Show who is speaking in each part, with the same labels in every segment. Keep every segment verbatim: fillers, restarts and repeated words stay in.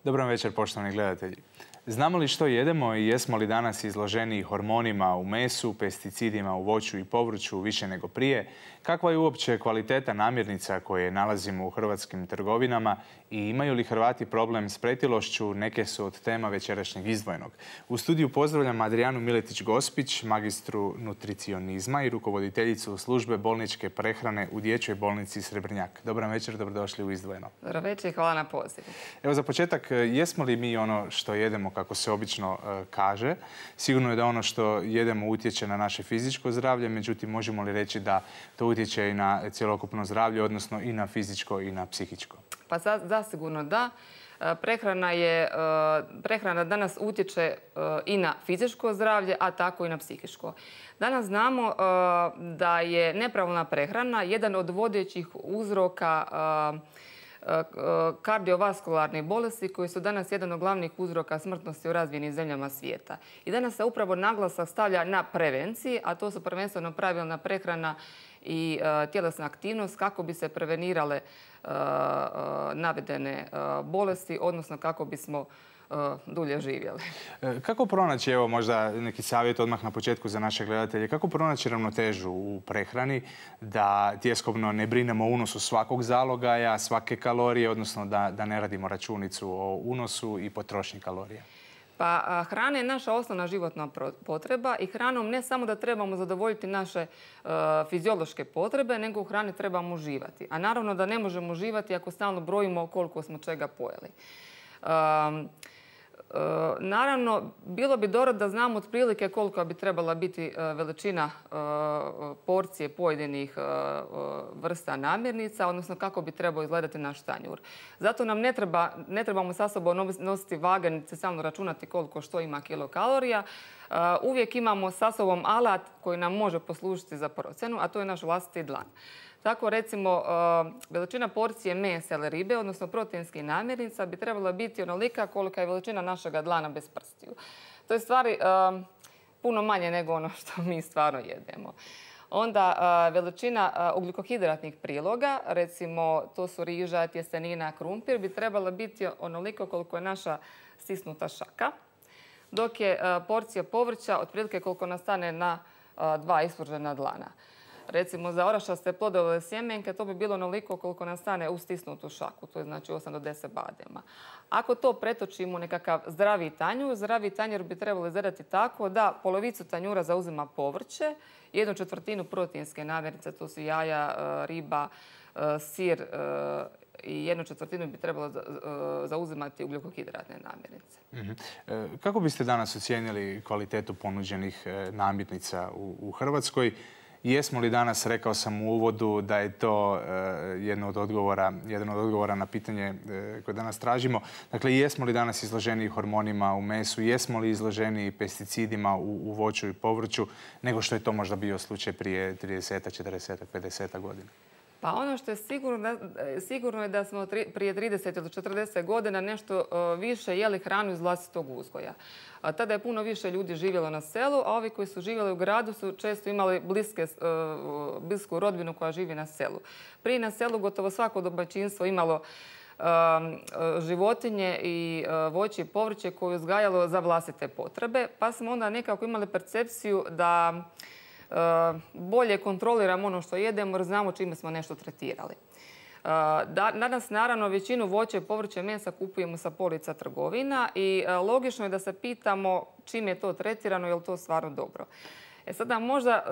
Speaker 1: Dobar večer, poštovani gledatelji. Znamo li što jedemo i jesmo li danas izloženi hormonima u mesu, pesticidima u voću i povrću više nego prije? Kakva je uopće kvaliteta namirnica koje nalazimo u hrvatskim trgovinama i imaju li Hrvati problem s pretilošću? Neke su od tema večerašnjeg Izdvojenog. U studiju pozdravljam Adrijanu Miletić-Gospić, magistru nutricionizma i rukovoditeljicu službe bolničke prehrane u Dječjoj bolnici Srebrnjak. Dobar večer, dobrodošli u Izdvojeno.
Speaker 2: Dobar večer i hvala na pozivu.
Speaker 1: Evo za početak, jesmo li mi ono što jedemo, kako se obično e, kaže? Sigurno je da ono što jedemo utječe na naše fizičko zdravlje, međutim možemo li reći da to utječe i na cjelokupno zdravlje, odnosno i na fizičko i na psihičko?
Speaker 2: Pa zasigurno da. Prehrana, je, prehrana danas utječe i na fizičko zdravlje, a tako i na psihičko. Danas znamo da je nepravilna prehrana jedan od vodećih uzroka kardiovaskularnih bolesti koji su danas jedan od glavnih uzroka smrtnosti u razvijenim zemljama svijeta. I danas se upravo naglasak stavlja na prevenciji, a to su prvenstveno pravilna prehrana i tjelesna aktivnost kako bi se prevenirale navedene bolesti, odnosno kako bismo dulje živjeli.
Speaker 1: Kako pronaći, evo možda neki savjet odmah na početku za naše gledatelje, kako pronaći ravnotežu u prehrani da tjeskobno ne brinemo o unosu svakog zalogaja, svake kalorije, odnosno da, da ne radimo računicu o unosu i potrošnji kalorija?
Speaker 2: Pa hrana je naša osnovna životna potreba i hranom ne samo da trebamo zadovoljiti naše uh, fiziološke potrebe, nego u hrani trebamo uživati. A naravno da ne možemo uživati ako stalno brojimo koliko smo čega pojeli. Um, Uh, naravno, bilo bi dobro da znamo otprilike koliko bi trebala biti uh, veličina uh, porcije pojedinih uh, vrsta namirnica, odnosno kako bi trebao izgledati naš tanjur. Zato nam ne, treba, ne trebamo sa sobom nositi vaganice, samo računati koliko što ima kilokalorija. Uh, uvijek imamo sa sobom alat koji nam može poslužiti za procjenu, a to je naš vlastiti dlan. Tako recimo veličina porcije mesa ili ribe, odnosno proteinskih namirnica, bi trebala biti onolika kolika je veličina našega dlana bez prstiju. To je stvari puno manje nego ono što mi stvarno jedemo. Onda veličina ugljikohidratnih priloga, recimo to su riža, tjestenina, krumpir, bi trebala biti onoliko koliko je naša stisnuta šaka, dok je porcija povrća otprilike koliko nastane na dva ispružena dlana. Recimo za orašaste plodove sjemenke to bi bilo onoliko koliko nastane u stisnutu šaku, to je znači osam do deset badema. Ako to pretočimo u nekakav zdravi tanjur, zdravi tanjur bi trebalo izgledati tako da polovicu tanjura zauzima povrće, jednu četvrtinu proteinske namirnice, to su jaja, riba, sir i jednu četvrtinu bi trebalo zauzimati ugljikohidratne namirnice.
Speaker 1: Mm-hmm. Kako biste danas ocijenili kvalitetu ponuđenih namirnica u, u Hrvatskoj? Jesmo li danas, rekao sam u uvodu, da je to uh, jedno od odgovora, jedan od odgovora na pitanje uh, koje danas tražimo. Dakle, jesmo li danas izloženi hormonima u mesu, jesmo li izloženi pesticidima u, u voću i povrću, nego što je to možda bio slučaj prije trideset, četrdeset, pedeset godina?
Speaker 2: Pa ono što je sigurno, sigurno je da smo tri, prije trideset ili četrdeset godina nešto uh, više jeli hranu iz vlastitog uzgoja. A tada je puno više ljudi živjelo na selu, a ovi koji su živjeli u gradu su često imali bliske, uh, blisku rodbinu koja živi na selu. Prije na selu gotovo svako domaćinstvo imalo uh, životinje i uh, voće i povrće koje je uzgajalo za vlastite potrebe, pa smo onda nekako imali percepciju da bolje kontroliramo ono što jedemo jer znamo čime smo nešto tretirali. Danas naravno većinu voća i povrća i mesa kupujemo sa polica trgovina i logično je da se pitamo čim je to tretirano, je li to stvarno dobro. E sada možda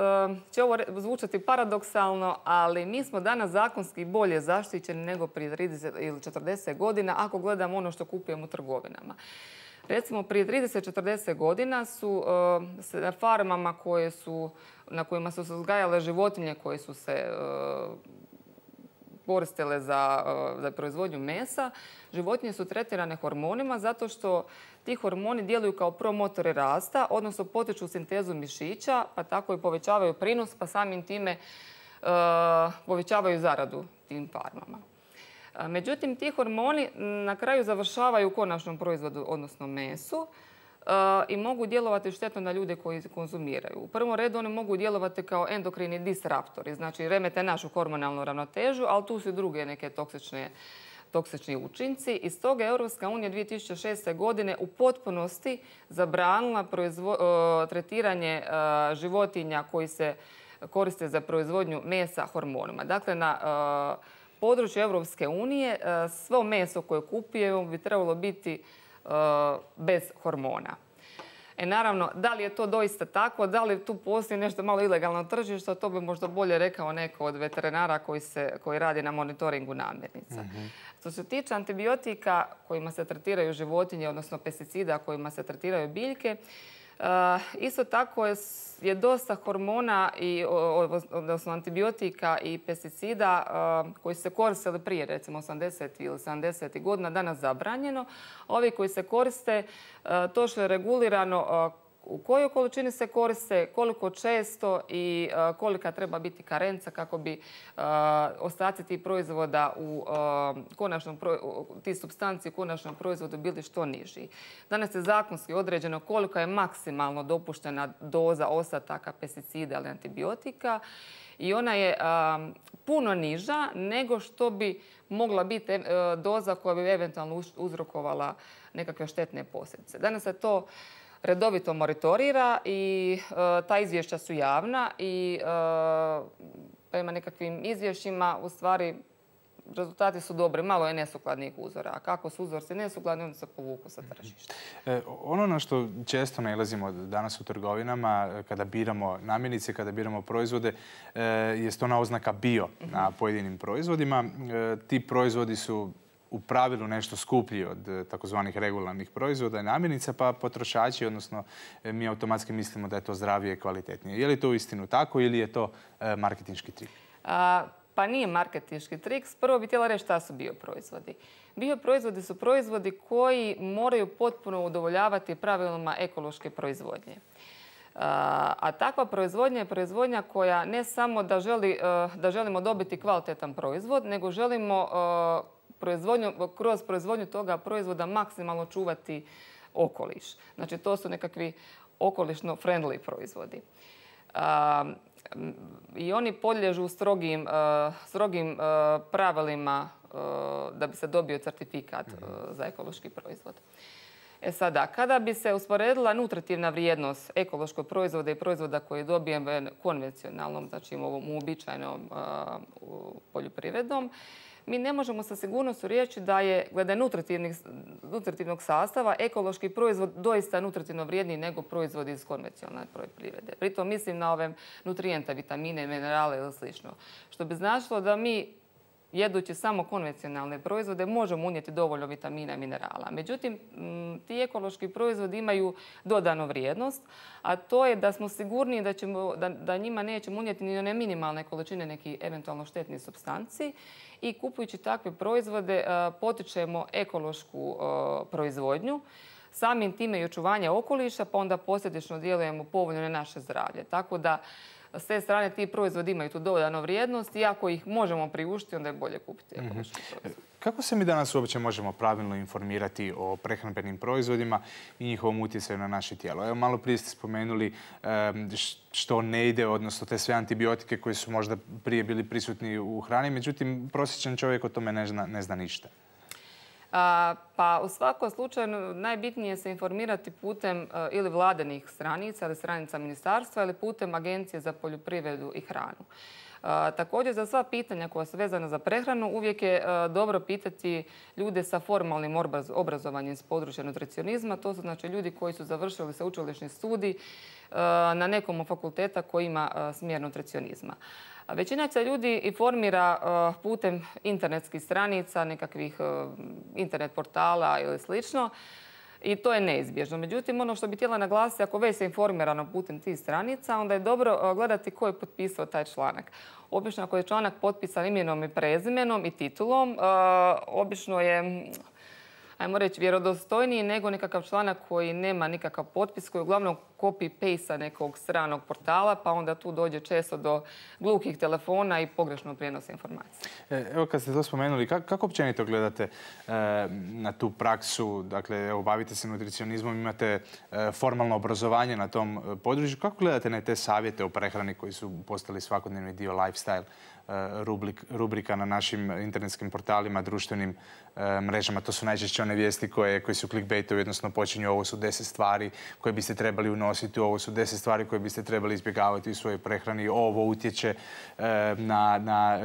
Speaker 2: će ovo zvučati paradoksalno, ali mi smo danas zakonski bolje zaštićeni nego prije trideset ili četrdeset godina ako gledamo ono što kupujemo u trgovinama. Recimo, prije trideset do četrdeset godina su na farmama koje su, na kojima su se uzgajale životinje koje su se koristile za, za proizvodnju mesa, životinje su tretirane hormonima zato što ti hormoni djeluju kao promotori rasta, odnosno potiču sintezu mišića, pa tako i povećavaju prinos, pa samim time uh, povećavaju zaradu tim farmama. Međutim, ti hormoni na kraju završavaju u konačnom proizvodu, odnosno mesu, i mogu djelovati štetno na ljude koji konzumiraju. U prvom redu oni mogu djelovati kao endokrini disruptori, znači remete našu hormonalnu ravnotežu, ali tu su i druge neke toksične toksični učinci i stoga je Europska unija dvije tisuće šeste. godine u potpunosti zabranila tretiranje životinja koji se koriste za proizvodnju mesa hormonima. Dakle, na području Europske unije svo meso koje kupujemo bi trebalo biti bez hormona. E naravno, da li je to doista tako, da li tu postoji nešto malo ilegalno tržište, to bi možda bolje rekao neko od veterinara koji, se, koji radi na monitoringu namirnica. Mm-hmm. Što se tiče antibiotika kojima se tretiraju životinje, odnosno pesticida kojima se tretiraju biljke, Uh, isto tako je, je dosta hormona, i, odnosno antibiotika i pesticida uh, koji se koristili prije, recimo osamdesetih ili sedamdesetih godina, danas zabranjeno. Ovi koji se koriste, uh, to što je regulirano uh, u kojoj količini se koriste, koliko često i uh, kolika treba biti karenca kako bi uh, ostaci tih proizvoda u uh, konačnom ti supstanci u konačnom proizvodu bili što niži. Danas je zakonski određeno kolika je maksimalno dopuštena doza ostataka pesticida ili antibiotika i ona je uh, puno niža nego što bi mogla biti uh, doza koja bi eventualno uzrokovala nekakve štetne posljedice. Danas se to redovito monitorira i uh, ta izvješća su javna i uh, prema nekakvim izvješćima u stvari rezultati su dobri. Malo je nesukladnih uzora. A kako su uzorci nesukladni, oni se povuku sa tržišta.
Speaker 1: E, ono na što često nailazimo danas u trgovinama, kada biramo namirnice, kada biramo proizvode, e, je ona oznaka bio mm-hmm. na pojedinim proizvodima. E, ti proizvodi su u pravilu nešto skuplji od takozvanih regularnih proizvoda i namirnica, pa potrošači, odnosno mi automatski mislimo da je to zdravije i kvalitetnije. Je li to uistinu tako ili je to marketinški trik?
Speaker 2: A, pa nije marketinški trik. Prvo bih htjela reći šta su bioproizvodi. Bioproizvodi su proizvodi koji moraju potpuno udovoljavati pravilima ekološke proizvodnje. A, a takva proizvodnja je proizvodnja koja ne samo da, želi, da želimo dobiti kvalitetan proizvod, nego želimo Proizvodnju, kroz proizvodnju toga proizvoda maksimalno čuvati okoliš. Znači, to su nekakvi okolišno friendly proizvodi. A, I oni podliježu strogim, a, strogim a, pravilima a, da bi se dobio certifikat a, za ekološki proizvod. E sada, kada bi se usporedila nutritivna vrijednost ekološkog proizvoda i proizvoda koji dobijemo konvencionalnom, znači ovom uobičajenom poljoprivredom, mi ne možemo sa sigurnošću reći da je, glede nutritivnog sastava, ekološki proizvod doista nutritivno vrijedniji nego proizvod iz konvencionalne poljoprivrede. Pritom mislim na ove nutrijente, vitamine, minerale ili slično. Što bi značilo da mi, jedući samo konvencionalne proizvode, možemo unijeti dovoljno vitamina i minerala. Međutim, ti ekološki proizvodi imaju dodanu vrijednost, a to je da smo sigurni da, ćemo, da, da njima nećemo unijeti ni one minimalne količine nekih eventualno štetnih supstanci i kupujući takve proizvode potičemo ekološku proizvodnju, samim time i očuvanje okoliša, pa onda posljedično djelujemo povoljno na naše zdravlje. Tako da s te strane ti proizvodi imaju tu dodanu vrijednost i ako ih možemo priuštiti, onda je bolje kupiti ekološki proizvod.
Speaker 1: Kako se mi danas uopće možemo pravilno informirati o prehrambenim proizvodima i njihovom utjecaju na naše tijelo? Evo, malo prije ste spomenuli što ne ide, odnosno te sve antibiotike koji su možda prije bili prisutni u hrani, međutim, prosječan čovjek o tome ne zna, ne zna ništa.
Speaker 2: A, pa u svakom slučaju najbitnije je se informirati putem a, ili vladinih stranica ili stranica ministarstva ili putem Agencije za poljoprivredu i hranu. A, također za sva pitanja koja su vezana za prehranu uvijek je a, dobro pitati ljude sa formalnim obrazovanjem s područja nutricionizma. To su znači ljudi koji su završili sveučilišni studij a, na nekom od fakulteta koji ima a, smjer nutricionizma. Većina se ljudi informira uh, putem internetskih stranica, nekakvih uh, internet portala ili slično i to je neizbježno. Međutim, ono što bih htjela naglasiti, ako već se informirano putem tih stranica, onda je dobro uh, gledati ko je potpisao taj članak. Obično ako je članak potpisan imenom i prezimenom i titulom, uh, obično je, ajmo reći, vjerodostojniji nego nekakav članak koji nema nikakav potpis, koji je uglavnom copy-paste nekog stranog portala, pa onda tu dođe često do gluhih telefona i pogrešno prijenosa informacija.
Speaker 1: Evo, kad ste to spomenuli, kako, kako općenito gledate e, na tu praksu? Dakle, evo, bavite se nutricionizmom, imate e, formalno obrazovanje na tom području. Kako gledate na te savjete o prehrani koji su postali svakodnevni dio lifestyle rubrika na našim internetskim portalima, društvenim mrežama. To su najčešće one vijesti koje, koje su clickbaitovi, odnosno počinju ovo su deset stvari koje biste trebali unositi, ovo su deset stvari koje biste trebali izbjegavati u svojoj prehrani, ovo utječe na, na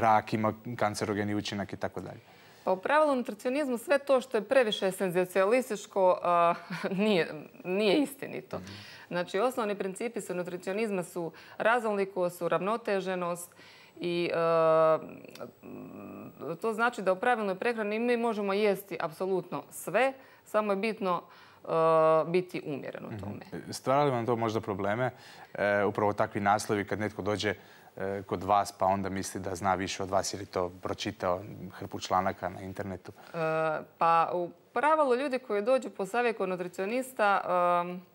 Speaker 1: rak, ima kancerogeni učinak i tako dalje.
Speaker 2: Pa u pravilu nutricionizmu sve to što je previše senzacionalističko nije, nije istinito. Znači, osnovni principi su nutricionizma su raznolikost, su ravnoteženost i e, to znači da u pravilnoj prehrani mi možemo jesti apsolutno sve, samo je bitno e, biti umjeren u tome.
Speaker 1: Stvara li vam to možda probleme? E, upravo takvi naslovi kad netko dođe kod vas pa onda misli da zna više od vas jer je to pročitao hrpu članaka na internetu?
Speaker 2: E, pa u pravilu ljudi koji dođu po savjet kod nutricionista e,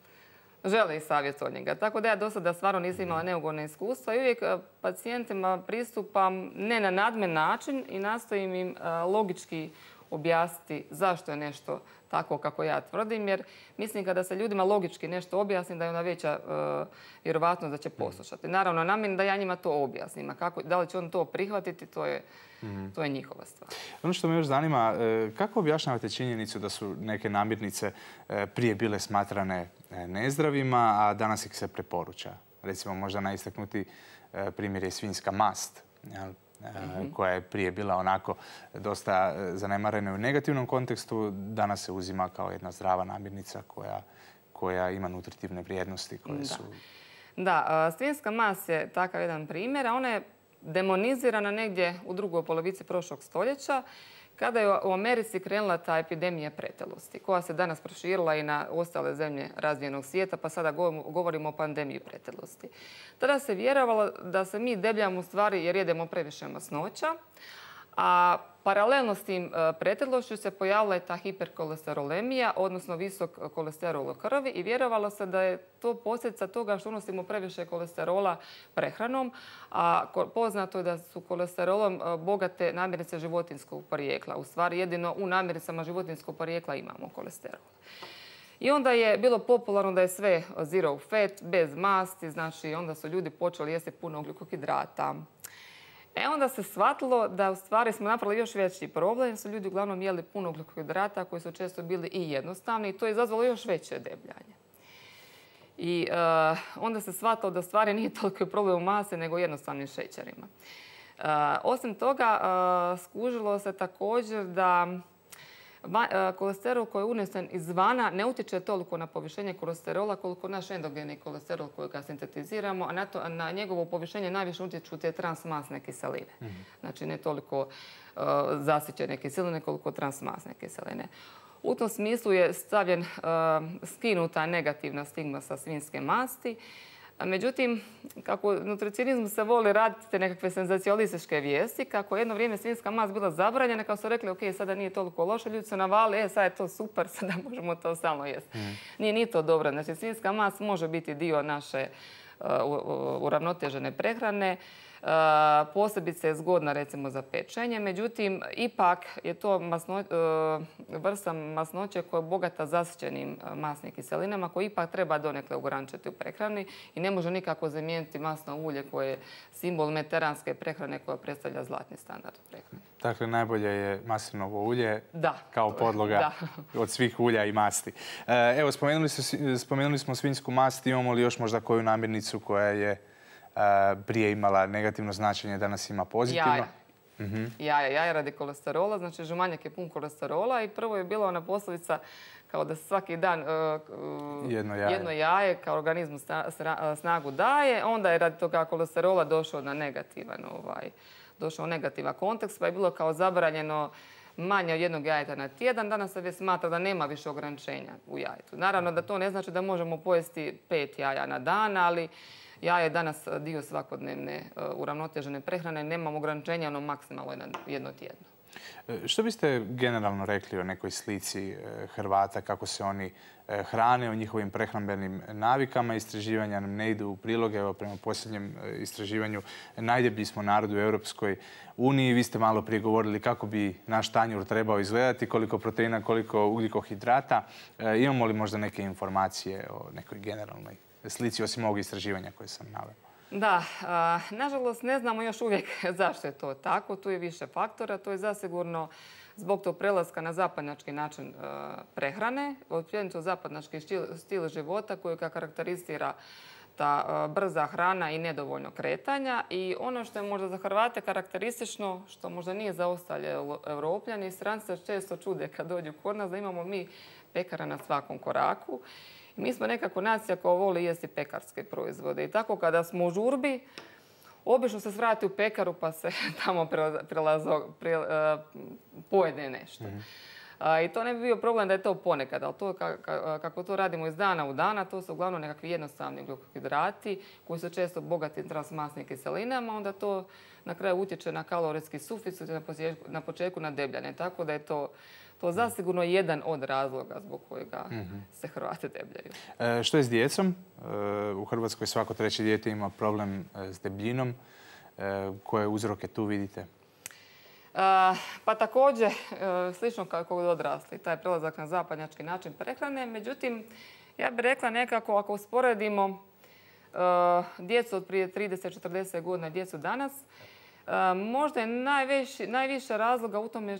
Speaker 2: žele i savjet od njega. Tako da ja do sada stvarno nisam imala neugodne iskustva i uvijek pacijentima pristupam ne na nadmen način i nastojim im logički objasniti zašto je nešto tako kako ja tvrdim, jer mislim kada se ljudima logički nešto objasni da je ona veća uh, vjerovatnost da će poslušati. Naravno, namjerim da ja njima to objasnim, a kako, da li će on to prihvatiti, to je, mm-hmm. to je njihova stvar.
Speaker 1: Ono što me još zanima, kako objašnjavate činjenicu da su neke namirnice prije bile smatrane nezdravima, a danas ih se preporuča? Recimo, možda najistaknuti primjer je svinjska mast, jel? Mm-hmm. koja je prije bila onako dosta zanemarena u negativnom kontekstu, danas se uzima kao jedna zdrava namirnica koja, koja ima nutritivne vrijednosti koje
Speaker 2: da.
Speaker 1: su...
Speaker 2: Da, svinjska mast je takav jedan primjer, a ona je demonizirana negdje u drugoj polovici prošlog stoljeća kada je u Americi krenula ta epidemija pretelosti, koja se danas proširila i na ostale zemlje razvijenog svijeta, pa sada govorimo o pandemiji pretelosti. Tada se vjerovalo da se mi debljamo u stvari jer jedemo previše masnoća, a paralelno s tim pretelošću se pojavila je ta hiperkolesterolemija, odnosno visok kolesterol u krvi i vjerovalo se da je to posljedica toga što unosimo previše kolesterola prehranom, a poznato je da su kolesterolom bogate namirnice životinjskog porijekla. U stvari jedino u namirnicama životinjskog porijekla imamo kolesterol. I onda je bilo popularno da je sve zero fat, bez masti, znači onda su ljudi počeli jesti puno ugljikohidrata. E onda se shvatilo da u stvari smo napravili još veći problem, su ljudi uglavnom jeli puno ugljikohidrata koji su često bili i jednostavni i to je izazvalo još veće debljanje. I uh, onda se shvatilo da u stvari nije toliko problem u masi nego jednostavnim šećerima. Uh, osim toga, uh, skužilo se također da kolesterol koji je unesen izvana ne utječe toliko na povišenje kolesterola koliko naš endogeni kolesterol koji ga sintetiziramo, a na, to, na njegovo povišenje najviše utječu te transmasne kiseline. Mm-hmm. Znači ne toliko uh, zasićene kiseline koliko transmasne kiseline. U tom smislu je stavljen, uh, skinuta negativna stigma sa svinjske masti. Međutim, kako u nutricionizmu se voli raditi te nekakve senzacionalističke vijesti, kako jedno vrijeme svinjska mast bila zabranjena, kao su rekli, ok, sada nije toliko loše, ljudi su navali, e, sad je to super, sada možemo to stalno jesti. Mm. Nije ni to dobro. Znači, svinjska mast može biti dio naše uh, uravnotežene prehrane. Uh, posebice je zgodna recimo za pečenje, međutim ipak je to masno, uh, vrsta masnoće koja je bogata zasićenim uh, masnim kiselinama koje ipak treba donekle ograničiti u prehrani i ne može nikako zamijeniti masno ulje koje je simbol mediteranske prehrane koja predstavlja zlatni standard u prehrani.
Speaker 1: Dakle, najbolje je maslinovo ulje
Speaker 2: da,
Speaker 1: kao podloga da. od svih ulja i masti. Evo, spomenuli, su, spomenuli smo svinjsku mast, imamo li još možda koju namirnicu koja je prije imala negativno značenje, danas ima pozitivno?
Speaker 2: Jaja. Mm-hmm. Jaja, jaja radi kolesterola, znači žumanjak je pun kolesterola i prvo je bila ona posljedica kao da svaki dan uh,
Speaker 1: jedno, jaje.
Speaker 2: jedno jaje kao organizmu snagu daje, onda je radi toga kolesterola došao na negativan, ovaj, došao u negativan kontekst, pa je bilo kao zabranjeno manje od jednog jajeta na tjedan. Danas se već smatra da nema više ograničenja u jajetu. Naravno da to ne znači da možemo pojesti pet jaja na dan, ali jaje je danas dio svakodnevne uh, uravnotežene prehrane. Nemamo ograničenja, ono maksimalno jedno tjedno.
Speaker 1: Što biste generalno rekli o nekoj slici Hrvata, kako se oni hrane, o njihovim prehrambenim navikama? Istraživanja nam ne idu u prilog. Evo, prema posljednjem istraživanju najdeblji smo narod u Europskoj uniji. Vi ste malo prije govorili kako bi naš tanjur trebao izgledati, koliko proteina, koliko ugljikohidrata. Imamo li možda neke informacije o nekoj generalnoj slici, osim ovog istraživanja koje sam naveo?
Speaker 2: Da, a, nažalost ne znamo još uvijek zašto je to tako. Tu je više faktora. To je zasigurno zbog tog prelaska na zapadnjački način a, prehrane, općenito zapadnjački stil, stil života koji ga karakterizira ta a, brza hrana i nedovoljno kretanja. I ono što je možda za Hrvate karakteristično, što možda nije za ostale Europljani, stranci se često čude kad dođu kod nas da imamo mi pekara na svakom koraku. Mi smo nekako nacija koja voli jesti pekarske proizvode. I tako kada smo u žurbi, obično se svrati u pekaru pa se tamo prelazo, pre, uh, pojede nešto. Mm-hmm. uh, I to ne bi bio problem da je to ponekad, ali to kako to radimo iz dana u dana, to su uglavnom nekakvi jednostavni glukohidrati koji su često bogati transmasnim kiselinama, onda to na kraju utječe na kalorijski suficit i na početku, na početku na debljanje. Tako da je to To zasigurno jedan od razloga zbog kojega mm-hmm. se Hrvati debljaju.
Speaker 1: E, što je s djecom? E, u Hrvatskoj svako treće dijete ima problem s debljinom. E, koje uzroke tu vidite?
Speaker 2: E, pa također, e, slično kao kod odrasli, taj prelazak na zapadnjački način prehrane. Međutim, ja bih rekla nekako ako usporedimo e, djecu od prije trideset do četrdeset godina, djecu danas, možda je najveći, najviša razloga u tome,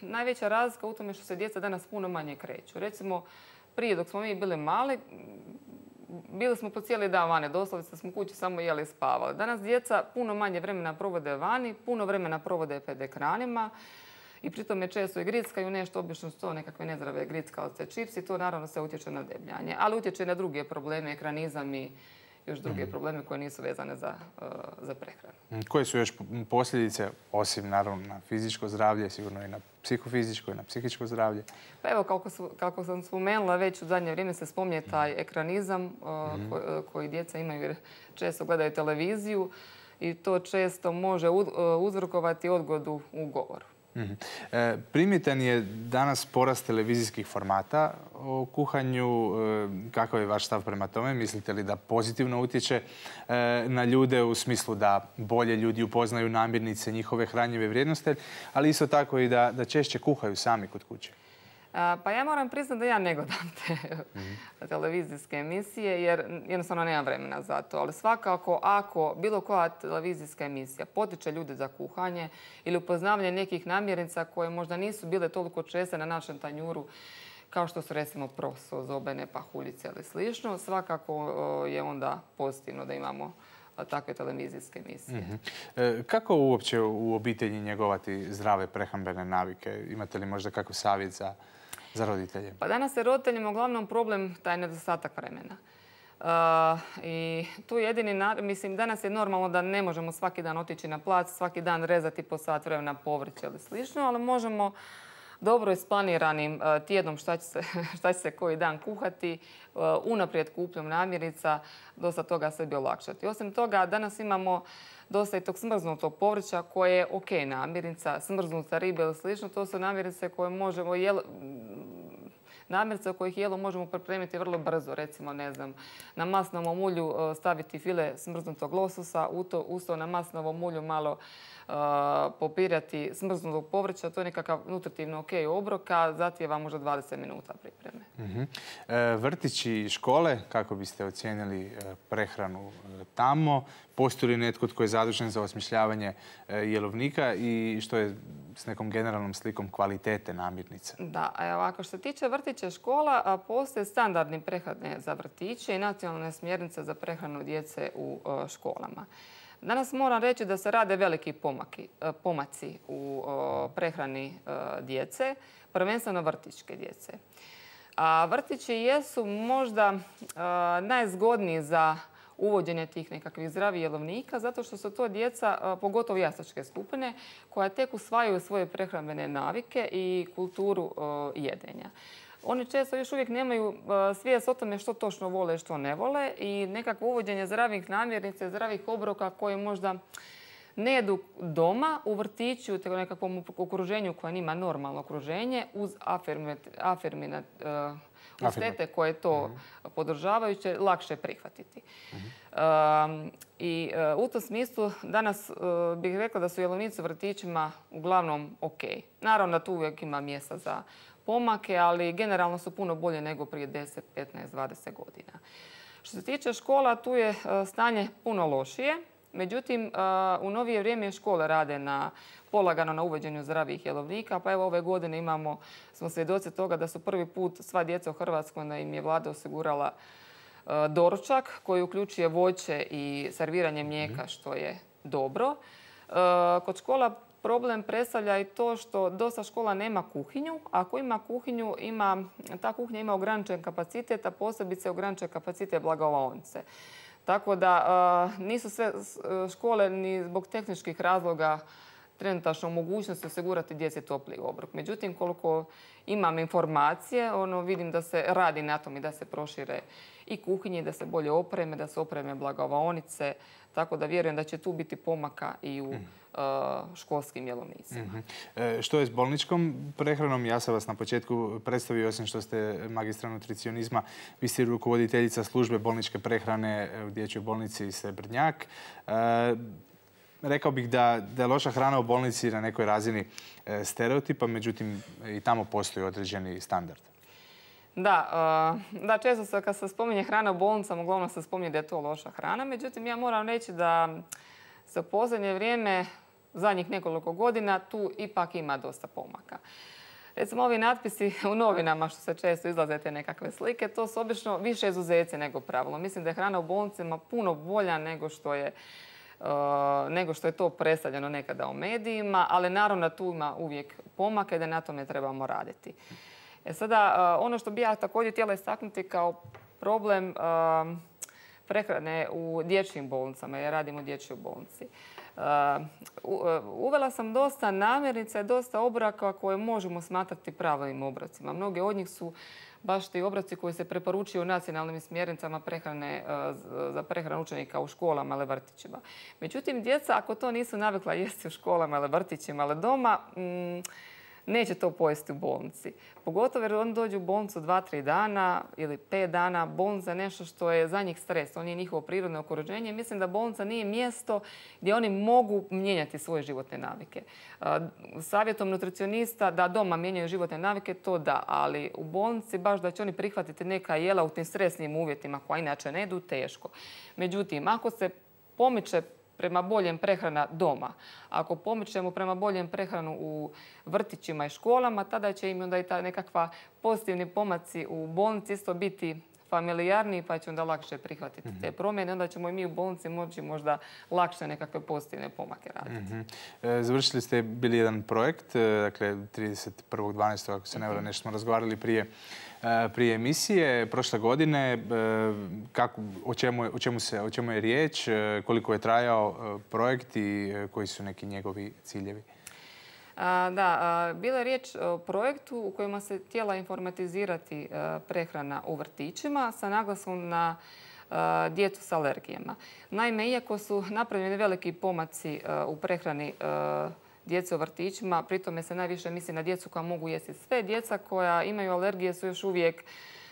Speaker 2: najveća razlika u tome što se djeca danas puno manje kreću. Recimo, prije dok smo mi bili mali, bili smo po cijeli dan vani, doslovce smo kući samo jeli i spavali. Danas djeca puno manje vremena provode vani, puno vremena provode pred ekranima i pritom je često i grickaju nešto, obično su to nekakve nezdrave grickalice, čipsi, to naravno se utječe na debljanje, ali utječe i na druge probleme, ekranizam i još druge mm-hmm. probleme koje nisu vezane za, uh, za prehranu.
Speaker 1: Koje su još posljedice, osim naravno na fizičko zdravlje, sigurno i na psihofizičko i na psihičko zdravlje?
Speaker 2: Pa evo, kako, su, kako sam spomenula, već u zadnje vrijeme se spominje taj ekranizam uh, mm-hmm. koji, koji djeca imaju jer često gledaju televiziju i to često može uz, uh, uzrokovati odgodu u govoru.
Speaker 1: Mm-hmm. E, primjetan je danas porast televizijskih formata o kuhanju. E, kakav je vaš stav prema tome? Mislite li da pozitivno utječe e, na ljude u smislu da bolje ljudi upoznaju namirnice, njihove hranjive vrijednosti, ali isto tako i da, da češće kuhaju sami kod kuće?
Speaker 2: Pa ja moram priznati da ja ne gledam te mm-hmm. televizijske emisije jer jednostavno nemam vremena za to. Ali svakako ako bilo koja televizijska emisija potiče ljude za kuhanje ili upoznavanje nekih namirnica koje možda nisu bile toliko česte na našem tanjuru kao što su recimo proso, zobene, pahuljice ili slično, svakako je onda pozitivno da imamo takve televizijske emisije.
Speaker 1: Mm-hmm. E, kako uopće u obitelji njegovati zdrave prehrambene navike? Imate li možda kakav savjet za za roditelje?
Speaker 2: Pa danas je roditeljima uglavnom problem taj nedostatak vremena. Uh, I tu jedini, mislim, danas je normalno da ne možemo svaki dan otići na plac, svaki dan rezati po sat vremena povrće ili slično, ali možemo dobro isplaniranim uh, tjednom šta će, se, šta će se koji dan kuhati, uh, unaprijed kupnjom namirnica, dosta toga sebi olakšati. Osim toga, danas imamo dosta i tog smrznutog povrća koje je ok namirnica, smrznuta riba ili slično. To su namirnice koje možemo jelo, namirnice od kojih jelo možemo pripremiti vrlo brzo. Recimo, ne znam, na masnovom ulju staviti file smrznutog lososa, u to, uz to na masnovom ulju malo uh, popirati smrznutog povrća. To je nekakav nutritivno ok obrok, a zahtijeva možda dvadeset minuta pripreme.
Speaker 1: Mm-hmm. E, vrtići i škole, kako biste ocijenili prehranu tamo? Postoji li netko tko je zadužen za osmišljavanje jelovnika i što je s nekom generalnom slikom kvalitete namirnica?
Speaker 2: Da, evo, ako što se tiče vrtića škola, postoje standardni prehrane za vrtiće i nacionalne smjernice za prehranu djece u školama. Danas moram reći da se rade veliki pomaki, pomaci u prehrani djece, prvenstveno vrtićke djece. A vrtići jesu možda najzgodniji za uvođenje tih nekakvih zdravih jelovnika, zato što su to djeca, pogotovo jaslačke skupine, koja tek usvajaju svoje prehrambene navike i kulturu jedenja. Oni često još uvijek nemaju svijest o tome što točno vole i što ne vole i nekakvo uvođenje zdravih namirnica, zdravih obroka koje možda ne jedu doma, u vrtiću, u nekakvom okruženju koje nima normalno okruženje, uz afirminat, uz tete koje to podržavaju će lakše prihvatiti. Uh-huh. I uh, u tom smislu danas uh, bih rekla da su jelovnici u vrtićima uglavnom ok. Naravno da tu uvijek ima mjesta za pomake, ali generalno su puno bolje nego prije deset, petnaest, dvadeset godina. Što se tiče škola, tu je stanje puno lošije. Međutim, u novije vrijeme škole rade na polagano na uvođenju zdravih jelovnika. Pa evo ove godine imamo, smo svjedoci toga da su prvi put sva djeca u Hrvatskoj, da im je vlada osigurala doručak koji uključuje voće i serviranje mlijeka, što je dobro. Kod škola problem predstavlja i to što dosta škola nema kuhinju. Ako ima kuhinju, ima, ta kuhinja ima ograničen kapacitet, a posebice ograničen kapacitet blagovaonice. Tako da nisu sve škole ni zbog tehničkih razloga trenutačno mogućnosti osigurati djeci topli obrok. Međutim, koliko imam informacije, ono, vidim da se radi na tom i da se prošire i kuhinje, da se bolje opreme, da se opreme blagovaonice. Tako da vjerujem da će tu biti pomaka i u školskim jelovnicima.
Speaker 1: Mm-hmm. Što je s bolničkom prehranom? Ja sam vas na početku predstavio, osim što ste magistra nutricionizma, vi ste rukovoditeljica službe bolničke prehrane u dječjoj bolnici Srebrnjak. E, rekao bih da, da je loša hrana u bolnici na nekoj razini stereotipa, međutim i tamo postoji određeni standard.
Speaker 2: Da, da, često se kad se spominje hrana u bolnicama, uglavnom se spominje da je to loša hrana. Međutim, ja moram reći da se u posljednje vrijeme, zadnjih nekoliko godina, tu ipak ima dosta pomaka. Recimo, ovi natpisi u novinama, što se često izlaze te nekakve slike, to su obično više izuzeci nego pravilo. Mislim da je hrana u bolnicama puno bolja nego što je, uh, nego što je to predstavljeno nekada u medijima, ali naravno da tu ima uvijek pomaka i da na tome trebamo raditi. E sada, ono što bi ja također htjela istaknuti kao problem uh, prehrane u dječjim bolnicama, jer radim u dječjoj bolnici. Uh, uvela sam dosta namirnica i dosta obroka koje možemo smatrati pravilnim obrocima. Mnoge od njih su baš ti obroci koji se preporučuju nacionalnim smjernicama prehrane, uh, za prehranu učenika u školama ili vrtićima. Međutim, djeca, ako to nisu navikla jesti u školama ili vrtićima ili doma, mm, neće to pojesti u bolnici. Pogotovo jer oni dođu u bolnicu dva, tri dana ili pet dana. Bolnica je nešto što je za njih stres. On je njihovo prirodno okruženje. Mislim da bolnica nije mjesto gdje oni mogu mijenjati svoje životne navike. Savjetom nutricionista da doma mijenjaju životne navike, to da. Ali u bolnici baš da će oni prihvatiti neka jela u tim stresnim uvjetima koja inače ne idu, teško. Međutim, ako se pomiče prema boljem prehrana doma. Ako pomičemo prema boljem prehranu u vrtićima i školama, tada će im onda i ta nekakva pozitivni pomaci u bolnici isto biti familijarniji, pa će onda lakše prihvatiti te promjene. Onda ćemo i mi u bolnici moći možda lakše nekakve pozitivne pomake raditi.
Speaker 1: Mm-hmm. Završili ste bili jedan projekt, dakle trideset prvog dvanaestog ako se ne varam, nešto smo razgovarali prije prije emisije prošle godine. Kako, o, čemu je, o, čemu se, o čemu je riječ, koliko je trajao projekt i koji su neki njegovi ciljevi?
Speaker 2: Da, bila je riječ o projektu u kojima se htjela informatizirati prehrana u vrtićima sa naglaskom na djecu s alergijama. Naime, iako su napravljeni veliki pomaci u prehrani djece u vrtićima, pritome se najviše misli na djecu koja mogu jesti sve. Djeca koja imaju alergije su još uvijek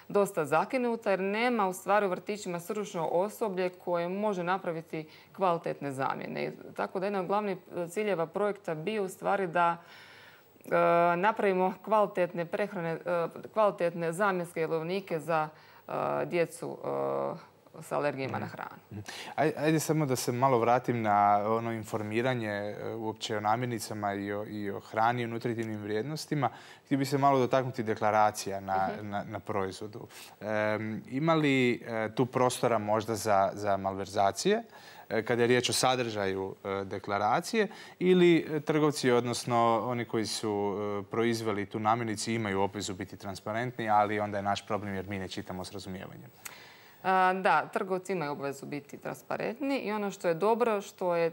Speaker 2: dosta zakinuta jer nema u stvari u vrtićima stručno osoblje koje može napraviti kvalitetne zamjene. Tako da jedan od glavnih ciljeva projekta bio u stvari da e, napravimo kvalitetne prehrane, e, kvalitetne zamjenske jelovnike za e, djecu e, s alergijama na hranu.
Speaker 1: Ajde samo da se malo vratim na ono informiranje uopće o namirnicama i o, i o hrani i o nutritivnim vrijednostima. Htio bi se malo dotaknuti deklaracija na, uh-huh. na, na proizvodu. E, ima li e, tu prostora možda za, za malverzacije e, kada je riječ o sadržaju e, deklaracije ili trgovci, odnosno oni koji su e, proizveli tu namirnicu imaju obvezu biti transparentni, ali onda je naš problem jer mi ne čitamo s razumijevanjem?
Speaker 2: Da, trgovci imaju obvezu biti transparentni i ono što je dobro što je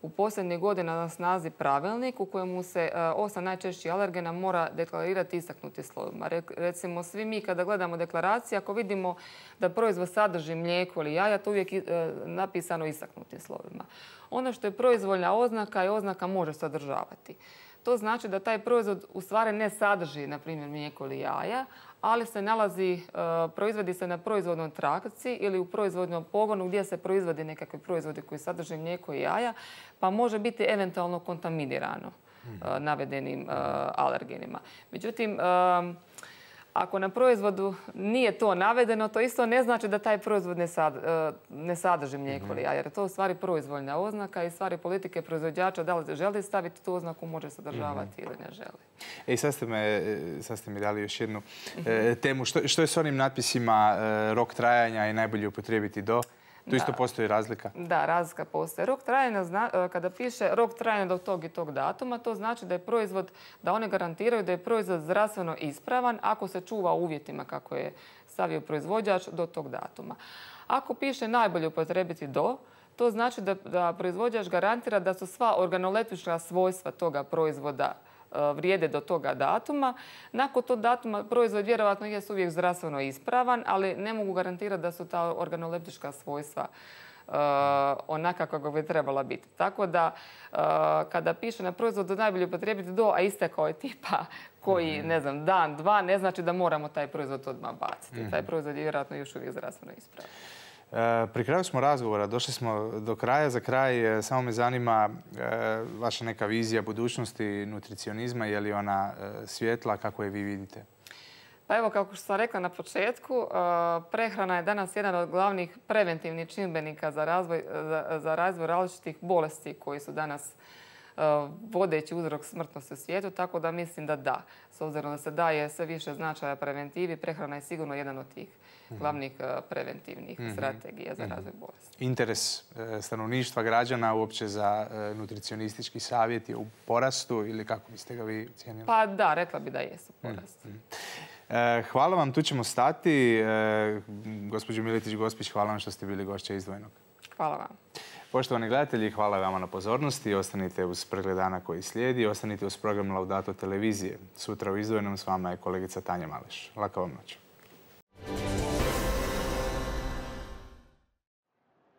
Speaker 2: u posljednje godine na snazi pravilnik u kojemu se osam najčešćih alergena mora deklarirati istaknutim slovima. Recimo, svi mi kada gledamo deklaracije, ako vidimo da proizvod sadrži mlijeko ili jaja, to uvijek napisano istaknutim slovima. Ono što je proizvoljna oznaka i oznaka može sadržavati. To znači da taj proizvod u stvari ne sadrži, na primjer, mlijeko ili jaja, ali se nalazi, proizvodi se na proizvodnoj trakci ili u proizvodnom pogonu gdje se proizvodi nekakve proizvode koji sadrže mlijeko i jaja, pa može biti eventualno kontaminirano navedenim alergenima. Međutim, Ako na proizvodu nije to navedeno, to isto ne znači da taj proizvod ne, sad, ne sadrži mlijeko ili jaje, jer je to u stvari proizvoljna oznaka i stvari politike proizvođača da li želi staviti tu oznaku, može sadržavati ili ne želi.
Speaker 1: E, sad ste, me, sad ste mi dali još jednu e, temu. Što, što je s onim natpisima e, rok trajanja i najbolje upotrijebiti do? Tu isto postoji razlika?
Speaker 2: Da, razlika postoji. Rok trajanja, kada piše rok trajanja do tog i tog datuma, to znači da je proizvod, da one garantiraju da je proizvod zdravstveno ispravan ako se čuva u uvjetima kako je stavio proizvođač do tog datuma. Ako piše najbolje upotrijebiti do, to znači da, da proizvođač garantira da su sva organoleptička svojstva toga proizvoda vrijede do toga datuma. Nakon tog datuma proizvod vjerojatno je uvijek zdravstveno ispravan, ali ne mogu garantirati da su ta organoleptička svojstva uh, onaka kako bi trebala biti. Tako da uh, kada piše na proizvodu najbolje upotrijebiti do, a istekao je tipa koji, ne znam, dan, dva, ne znači da moramo taj proizvod odmah baciti. Mm-hmm. Taj proizvod je vjerojatno još uvijek zdravstveno ispravan.
Speaker 1: Pri kraju smo razgovora, došli smo do kraja. Za kraj samo me zanima vaša neka vizija budućnosti nutricionizma. Je li ona svjetla? Kako je vi vidite?
Speaker 2: Pa evo, kako što sam rekla na početku, prehrana je danas jedan od glavnih preventivnih čimbenika za razvoj, za, za razvoj različitih bolesti koji su danas vodeći uzrok smrtnosti u svijetu, tako da mislim da da. S obzirom da se daje sve više značaja preventivi, prehrana je sigurno jedan od tih glavnih preventivnih mm-hmm. strategija za razvoj bolesti.
Speaker 1: Interes stanovništva, građana uopće za nutricionistički savjet je u porastu ili kako biste ga vi cijenili?
Speaker 2: Pa da, rekla bi da jesu u porastu.
Speaker 1: Mm-hmm. Hvala vam, tu ćemo stati. Gospođo Miletić-Gospić, hvala vam što ste bili gošća Izdvojenog.
Speaker 2: Hvala vam.
Speaker 1: Poštovani gledatelji, hvala vama na pozornosti. Ostanite uz pregled dana koji slijedi. Ostanite uz program Laudato televizije. Sutra u Izdvojenom s vama je kolegica Tanja Maleš. Laka vam noć.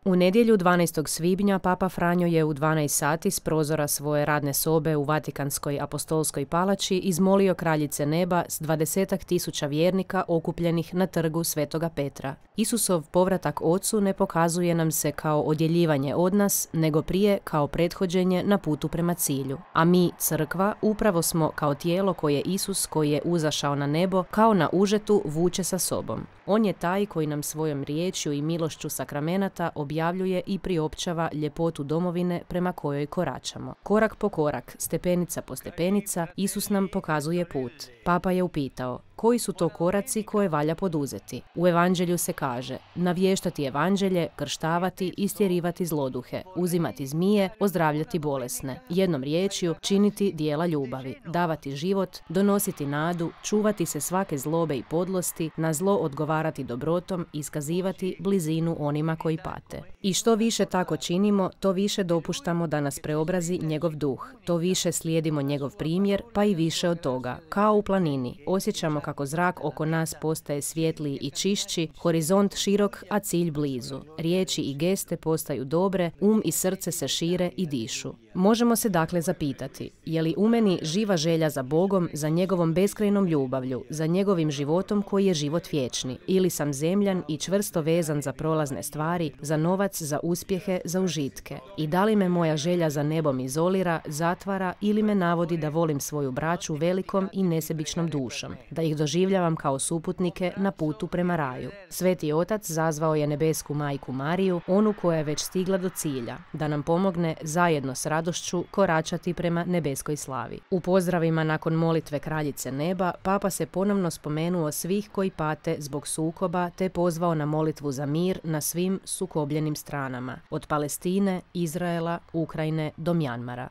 Speaker 3: U nedjelju dvanaestog svibnja Papa Franjo je u dvanaest sati s prozora svoje radne sobe u Vatikanskoj apostolskoj palači izmolio Kraljice neba s dvadesetak tisuća vjernika okupljenih na trgu Svetoga Petra. Isusov povratak Ocu ne pokazuje nam se kao odjeljivanje od nas, nego prije kao prethođenje na putu prema cilju. A mi, crkva, upravo smo kao tijelo koje Isus, koji je uzašao na nebo, kao na užetu vuče sa sobom. On je taj koji nam svojom riječju i milošću sakramenata objavljuje i priopćava ljepotu domovine prema kojoj koračamo. Korak po korak, stepenica po stepenica, Isus nam pokazuje put. Papa je upitao, koji su to koraci koje valja poduzeti? U evanđelju se kaže, navještati evanđelje, krštavati, istjerivati zloduhe, uzimati zmije, ozdravljati bolesne, jednom riječju činiti dijela ljubavi, davati život, donositi nadu, čuvati se svake zlobe i podlosti, na zlo odgovarati dobrotom, iskazivati blizinu onima koji pate. I što više tako činimo, to više dopuštamo da nas preobrazi njegov duh, to više slijedimo njegov primjer, pa i više od toga. Kao u planini, osjećamo kako zrak oko nas postaje svjetliji i čišći, horizont širok, a cilj blizu. Riječi i geste postaju dobre, um i srce se šire i dišu. Možemo se dakle zapitati, je li u meni živa želja za Bogom, za njegovom beskrajnom ljubavlju, za njegovim životom koji je život vječni, ili sam zemljan i čvrsto vezan za prolazne stvari, za novac, za uspjehe, za užitke. I da li me moja želja za nebom izolira, zatvara ili me navodi da volim svoju braću velikom i nesebičnom dušom, da ih doživljavam kao suputnike na putu prema raju. Sveti Otac zazvao je nebesku majku Mariju, onu koja je već stigla do cilja, da nam pomogne zajedno s radošću koračati prema nebeskoj slavi. U pozdravima nakon molitve Kraljice neba, Papa se ponovno spomenuo svih koji pate zbog sukoba te pozvao na molitvu za mir na svim sukobljenim stranama, od Palestine, Izraela, Ukrajine do Mjanmara.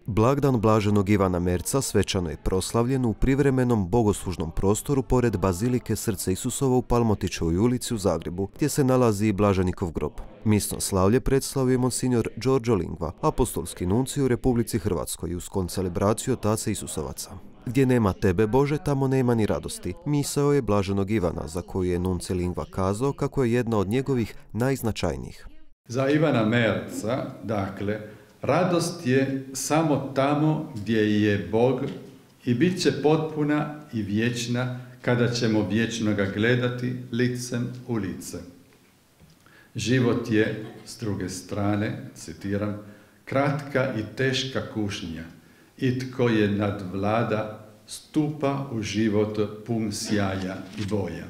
Speaker 4: Blagdan blaženog Ivana Merca svečano je proslavljen u privremenom bogoslužnom prostoru pored Bazilike Srca Isusovo u Palmotićevoj ulici u Zagrebu, gdje se nalazi i blaženikov grob. Misno slavlje predstavio je monsignor Giorgio Lingua, apostolski nuncij u Republici Hrvatskoj uz koncelebraciju Otaca Isusovaca. Gdje nema tebe, Bože, tamo nema ni radosti. Misao je blaženog Ivana, za koju je nuncij Lingua kazao kako je jedna od njegovih najznačajnijih.
Speaker 5: Za Ivana Merca, dakle, radost je samo tamo gdje je Bog i bit će potpuna i vječna kada ćemo vječno ga gledati licem u lice. Život je, s druge strane, citiram, kratka i teška kušnja, i tko je nadvlada, stupa u život pun sjaja i boja.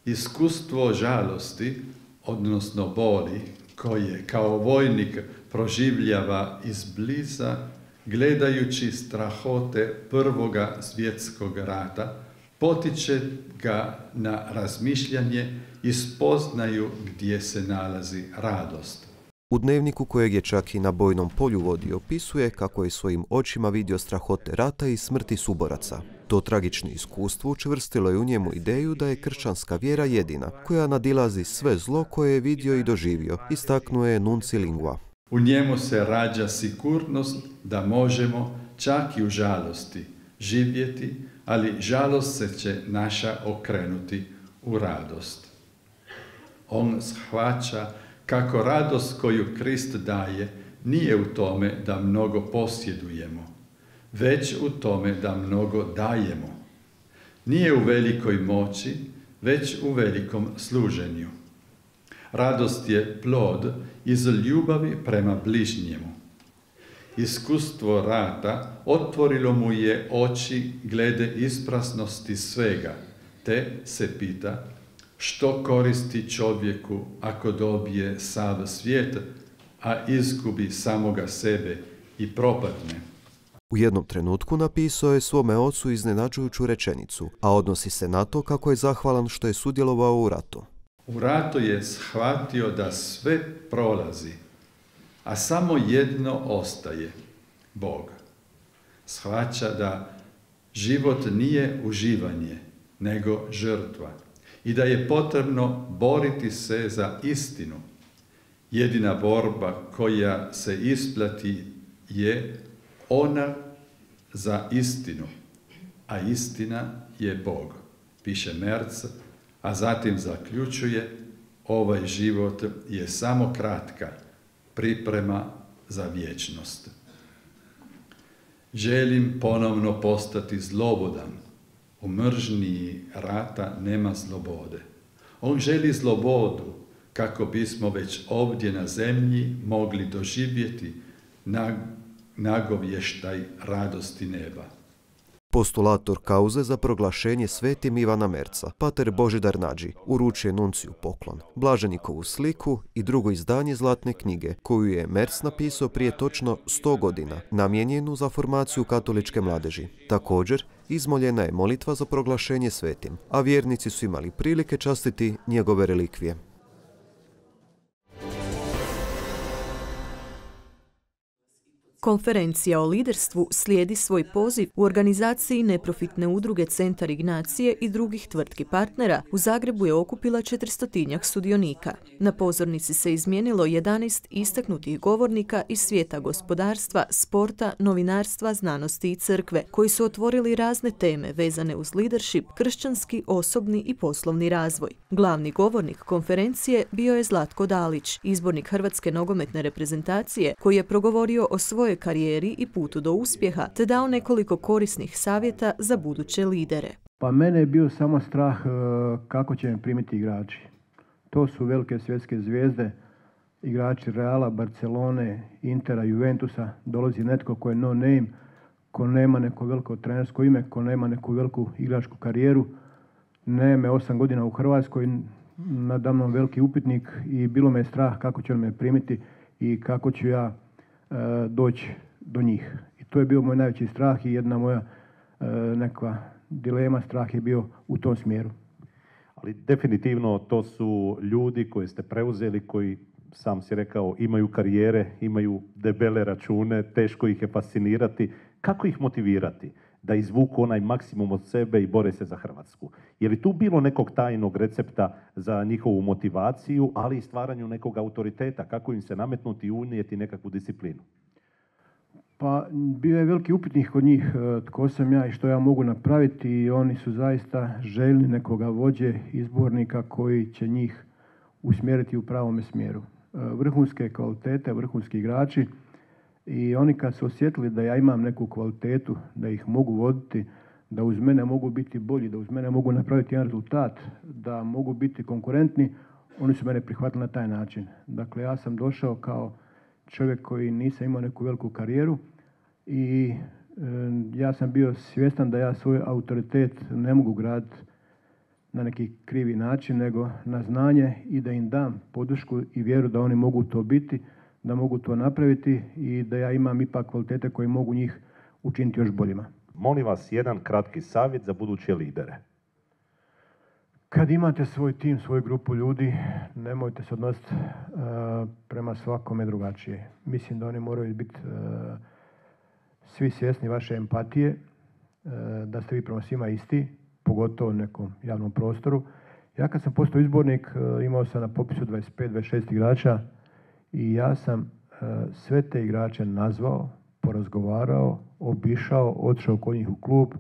Speaker 5: Iskustvo žalosti, odnosno boli, koje kao vojnik proživljava izbliza, gledajući strahote prvoga svjetskog rata, potiče ga na razmišljanje i spoznaju gdje se nalazi radost.
Speaker 4: U dnevniku, kojeg je čak i na bojnom polju vodio, opisuje kako je svojim očima vidio strahote rata i smrti suboraca. To tragično iskustvo učvrstilo je u njemu ideju da je kršćanska vjera jedina, koja nadilazi sve zlo koje je vidio i doživio, istaknuo je Nunci Lingua.
Speaker 5: U njemu se rađa sigurnost da možemo, čak i u žalosti, živjeti, ali žalost se će naša okrenuti u radost. On shvaća kako radost koju Krist daje nije u tome da mnogo posjedujemo, već u tome da mnogo dajemo. Nije u velikoj moći, već u velikom služenju. Radost je plod iz ljubavi prema bližnjemu. Iskustvo rata otvorilo mu je oči glede isprasnosti svega, te se pita što koristi čovjeku ako dobije sav svijet, a izgubi samoga sebe i propadne.
Speaker 4: U jednom trenutku napisao je svome ocu iznenađujuću rečenicu, a odnosi se na to kako je zahvalan što je sudjelovao u ratu.
Speaker 5: U ratu je shvatio da sve prolazi, a samo jedno ostaje, Bog. Shvaća da život nije uživanje, nego žrtva i da je potrebno boriti se za istinu. Jedina borba koja se isplati je ona za istinu, a istina je Bog, piše Merz, a zatim zaključuje: ovaj život je samo kratka priprema za vječnost. Želim ponovno postati slobodan. U mržnji rata nema slobode. On želi slobodu kako bismo već ovdje na zemlji mogli doživjeti nagovještaj radosti neba.
Speaker 4: Postulator kauze za proglašenje svetim Ivana Merza, pater Božidar Nađi, uručuje nunciju poklon, blaženikovu sliku i drugo izdanje Zlatne knjige, koju je Merz napisao prije točno sto godina, namijenjenu za formaciju katoličke mladeži. Također, izmoljena je molitva za proglašenje svetim, a vjernici su imali prilike častiti njegove relikvije.
Speaker 6: Konferencija o liderstvu slijedi svoj poziv u organizaciji neprofitne udruge Centar Ignacije i drugih tvrtki partnera. U Zagrebu je okupila četristotinjak sudionika. Na pozornici se izmijenilo jedanaest istaknutih govornika iz svijeta gospodarstva, sporta, novinarstva, znanosti i crkve, koji su otvorili razne teme vezane uz leadership, kršćanski, osobni i poslovni razvoj. Glavni govornik konferencije bio je Zlatko Dalić, izbornik Hrvatske nogometne reprezentacije, koji je progovorio o svojoj karijeri i putu do uspjeha, te dao nekoliko korisnih savjeta za buduće lidere.
Speaker 7: Pa mene je bio samo strah kako će me primiti igrači. To su velike svjetske zvijezde, igrači Reala, Barcelone, Intera, Juventusa. Dolazi netko ko je no name, ko nema neko veliko trenersko ime, ko nema neku veliku igračku karijeru. Nema osam godina u Hrvatskoj, nadamnom veliki upitnik i bilo me strah kako će me primiti i kako ću ja doći do njih. I to je bio moj najveći strah i jedna moja e, neka dilema, strah je bio u tom smjeru.
Speaker 8: Ali definitivno to su ljudi koje ste preuzeli, koji, sam si rekao, imaju karijere, imaju debele račune, teško ih je fascinirati. Kako ih motivirati da izvuku onaj maksimum od sebe i bore se za Hrvatsku? Je li tu bilo nekog tajnog recepta za njihovu motivaciju, ali i stvaranju nekog autoriteta? Kako im se nametnuti i unijeti nekakvu disciplinu?
Speaker 7: Pa bio je veliki upitnik kod njih tko sam ja i što ja mogu napraviti i oni su zaista željni nekoga vođe, izbornika koji će njih usmjeriti u pravome smjeru. Vrhunske kvalitete, vrhunski igrači. I oni kad su osjetili da ja imam neku kvalitetu, da ih mogu voditi, da uz mene mogu biti bolji, da uz mene mogu napraviti jedan rezultat, da mogu biti konkurentni, oni su mene prihvatili na taj način. Dakle, ja sam došao kao čovjek koji nisam imao neku veliku karijeru i ja sam bio svjestan da ja svoj autoritet ne mogu graditi na neki krivi način, nego na znanje i da im dam podršku i vjeru da oni mogu to biti, da mogu to napraviti i da ja imam ipak kvalitete koje mogu njih učiniti još boljima.
Speaker 8: Molim vas jedan kratki savjet za buduće lidere.
Speaker 7: Kad imate svoj tim, svoju grupu ljudi, nemojte se odnositi uh, prema svakome drugačije. Mislim da oni moraju biti uh, svi svjesni vaše empatije, uh, da ste vi prema svima isti, pogotovo u nekom javnom prostoru. Ja kad sam postao izbornik, uh, imao sam na popisu dvadeset pet dvadeset šest igrača i ja sam uh, sve te igrače nazvao, porazgovarao, obišao, otišao kod njih u klub,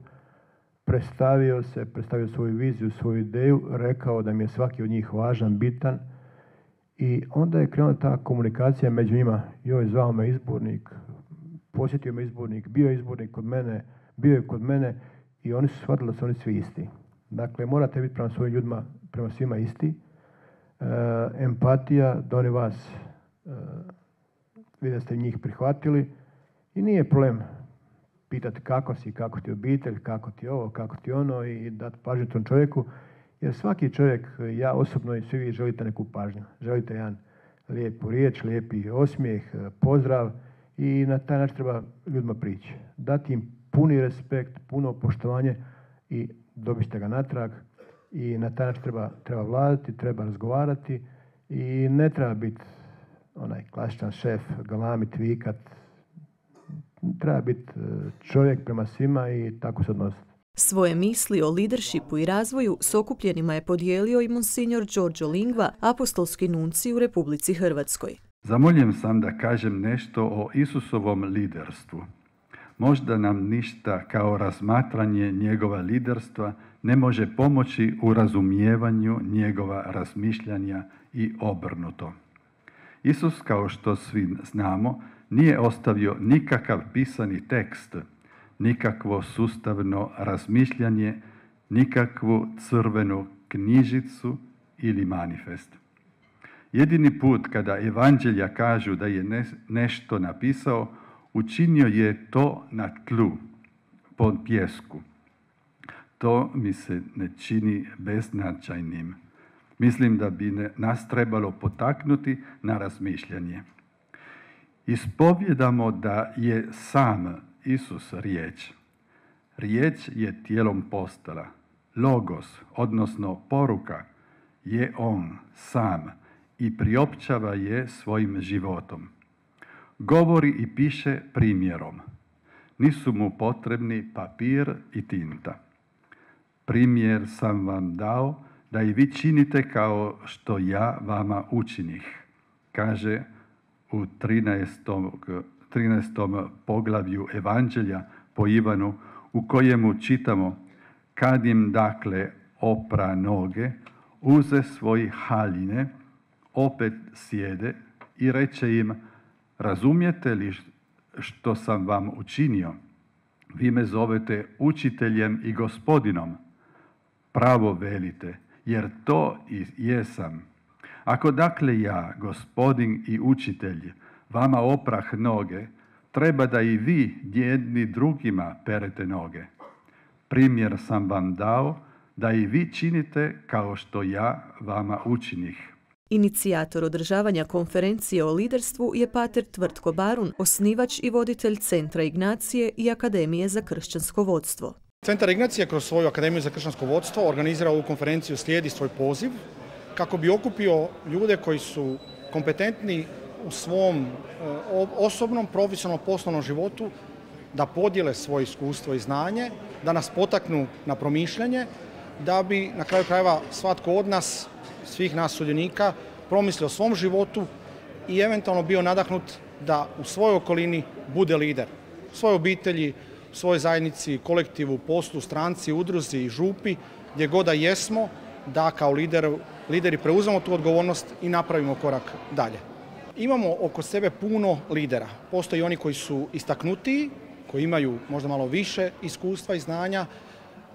Speaker 7: predstavio se, predstavio svoju viziju, svoju ideju, rekao da mi je svaki od njih važan, bitan i onda je krenula ta komunikacija među njima. Joj, zvao me izbornik, posjetio me izbornik, bio je izbornik kod mene, bio je kod mene i oni su shvatili da su oni svi isti. Dakle, morate biti prema svojim ljudima, prema svima isti. E, empatija, da oni vas e, vide da ste njih prihvatili i nije problem pitati kako si, kako ti obitelj, kako ti ovo, kako ti ono i dati pažnju tom čovjeku. Jer svaki čovjek, ja osobno i svi vi želite neku pažnju. Želite jedan lijepu riječ, lijepi osmijeh, pozdrav i na taj način treba ljudima prići. Dati im puni respekt, puno poštovanje i dobit ćete ga natrag. I na taj način treba, treba vladati, treba razgovarati i ne treba biti onaj klasičan šef, galamit, vikat. Treba biti čovjek prema svima i tako se odnositi.
Speaker 6: Svoje misli o leadershipu i razvoju s okupljenima je podijelio i monsignor Giorgio Lingua, apostolski nuncij u Republici Hrvatskoj.
Speaker 5: Zamoljen sam da kažem nešto o Isusovom liderstvu. Možda nam ništa kao razmatranje njegova liderstva ne može pomoći u razumijevanju njegova razmišljanja i obrnuto. Isus, kao što svi znamo, nije ostavio nikakav pisani tekst, nikakvo sustavno razmišljanje, nikakvu crvenu knjižicu ili manifest. Jedini put kada evanđelja kažu da je ne, nešto napisao, učinio je to na tlu, pod pjesku. To mi se ne čini beznačajnim. Mislim da bi nas trebalo potaknuti na razmišljanje. Ispovjedamo da je sam Isus riječ. Riječ je tijelom postala. Logos, odnosno poruka, je on sam i priopćava je svojim životom. Govori i piše primjerom. Nisu mu potrebni papir i tinta. Primjer sam vam dao da i vi činite kao što ja vama učinih, kaže u trinaestom poglavlju Evanđelja po Ivanu, u kojemu čitamo: kad im dakle opra noge, uze svoj haljine, opet sjede i reče im: razumijete li što sam vam učinio? Vi me zovete učiteljem i gospodinom. Pravo velite, jer to i jesam. Ako dakle ja, gospodin i učitelj, vama oprah noge, treba da i vi jedni drugima perete noge. Primjer sam vam dao da i vi činite kao što ja vama učinih.
Speaker 6: Inicijator održavanja konferencije o liderstvu je pater Tvrtko Barun, osnivač i voditelj Centra Ignacije i Akademije za kršćansko vodstvo.
Speaker 9: Centar Ignacije kroz svoju Akademiju za kršćansko vodstvo organizira ovu konferenciju Slijedi svoj poziv, kako bi okupio ljude koji su kompetentni u svom osobnom, profesionalnom, poslovnom životu, da podijele svoje iskustvo i znanje, da nas potaknu na promišljanje, da bi na kraju krajeva svatko od nas, svih nas sudionika, promislio o svom životu i eventualno bio nadahnut da u svojoj okolini bude lider. U svojoj obitelji, u svojoj zajednici, kolektivu, poslu, stranci, udruzi i župi, gdje god da jesmo, da kao lider, lideri preuzmemo tu odgovornost i napravimo korak dalje. Imamo oko sebe puno lidera. Postoji oni koji su istaknutiji, koji imaju možda malo više iskustva i znanja.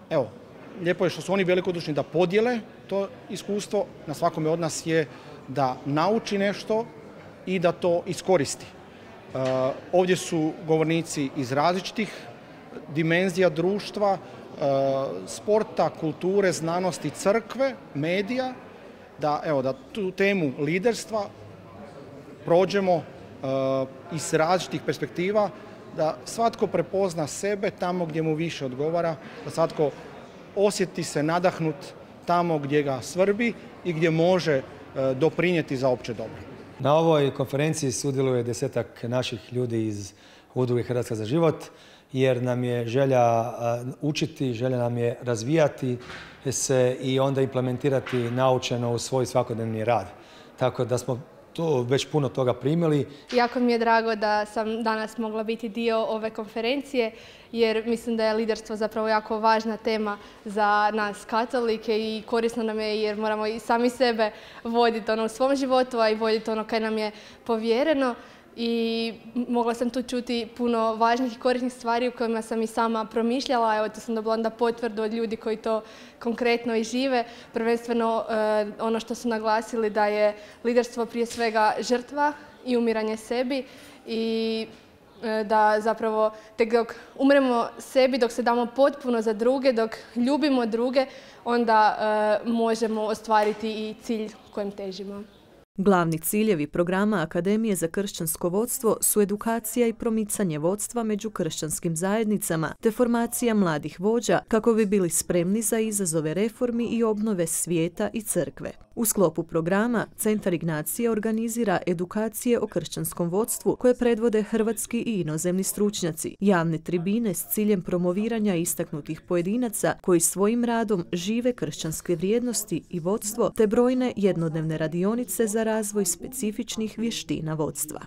Speaker 9: Evo, lijepo je što su oni velikodušni da podijele to iskustvo. Na svakome od nas je da nauči nešto i da to iskoristi. Ovdje su govornici iz različitih dimenzija društva, sporta, kulture, znanosti, crkve, medija, da, evo, da tu temu liderstva prođemo iz različitih perspektiva, da svatko prepozna sebe tamo gdje mu više odgovara, da svatko osjeti se nadahnut tamo gdje ga svrbi i gdje može doprinijeti za opće dobro.
Speaker 10: Na ovoj konferenciji sudjeluje desetak naših ljudi iz Udruge Hrvatska za život, jer nam je želja učiti, želja nam je razvijati se i onda implementirati naučeno u svoj svakodnevni rad. Tako da smo tu već puno toga primili.
Speaker 11: Jako mi je drago da sam danas mogla biti dio ove konferencije, jer mislim da je liderstvo zapravo jako važna tema za nas katolike i korisno nam je jer moramo i sami sebe voditi ono u svom životu, a i voditi ono kaj nam je povjereno. I mogla sam tu čuti puno važnih i korisnih stvari u kojima sam i sama promišljala. Evo, tu sam dobila onda potvrdu od ljudi koji to konkretno i žive. Prvenstveno ono što su naglasili da je liderstvo prije svega žrtva i umiranje sebi i da zapravo tek dok umremo sebi, dok se damo potpuno za druge, dok ljubimo druge, onda možemo ostvariti i cilj kojem težimo.
Speaker 6: Glavni ciljevi programa Akademije za kršćansko vodstvo su edukacija i promicanje vodstva među kršćanskim zajednicama te formacija mladih vođa kako bi bili spremni za izazove reformi i obnove svijeta i crkve. U sklopu programa Centar Ignacije organizira edukacije o kršćanskom vodstvu koje predvode hrvatski i inozemni stručnjaci, javne tribine s ciljem promoviranja istaknutih pojedinaca koji svojim radom žive kršćanske vrijednosti i vodstvo te brojne jednodnevne radionice za razvoj specifičnih vještina vodstva.